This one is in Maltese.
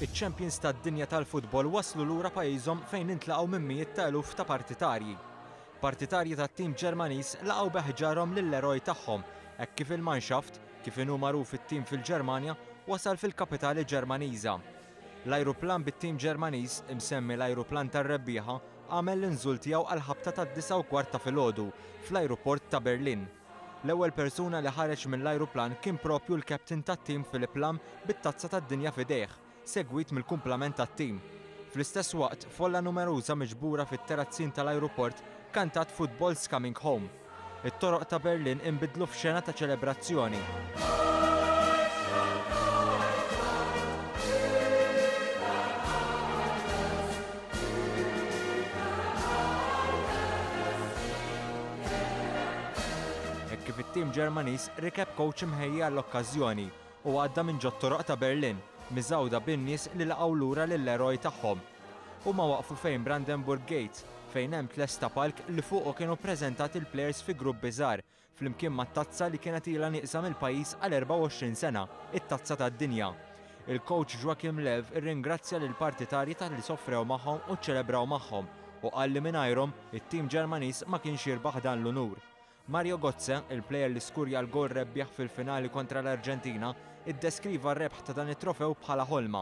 Iċ-champions tad-dinja tal-futbol waslu lura pajjiżhom fejn intlaqgħu minn mijiet ta' eluf ta' partitarji. Partitarji tat-tim Ġermaniż laqgħu bi ħġarhom lill-eroj tagħhom hekk kif il-Mannschaft, kif inhu magħruf it-tim fil-Ġermanja, wasal fil-kapitali Ġermaniża. L-ajruplan bit-tim Ġermaniż, imsemmi l-ajruplan tar-rebbieħa, għamel l-inżul tiegħu għall-ħabta tad-disgħa u kwart ta' filgħodu fl-ajruport ta' Berlin. L-ewwel persuna li ħareġ mill-ajruplan kien proprju l-captain tat-tim Philipp Lahm bit-Tazza tad-Dinja f'idejh, segwit mill-kumplament tat-tim. Fl-istess waqt, folla numeruża miġbura fit-terazzin tal-ajruport kantat Football's coming home. It-toroq ta' Berlin inbidlu f'xena ta' ċelebrazzjoni. Hekk kif it-tim Ġermaniż rikeb kowċ imħejji għall-okkażjoni u għadda minn ġot-toroq ta' Berlin, miżgħuda bin-nies li laqgħu lura lill-eroj tagħhom. Huma waqfu fejn Brandenburg Gate, fejn hemm tlesta palk li fuqu kienu ppreżentati l-plejers fi gruppi żgħar, flimkien mat-tazza li kienet ilha nieqsa mill-pajjiż għal 24 sena, it-Tazza tad-Dinja. Il-kowċ Joachim Löw irringrazzja lill-partitarji talli sofrew magħhom u ċċelebraw magħhom u qal li mingħajrhom, it-tim Ġermaniż ma kienx jirbaħ dan l-unur. Mario Gotze, il-plejer li skurja l-goal rebbieħ fil-finali kontra l-Arġentina, iddeskriva r-rebħ ta' dan it-trofew bħala ħolma.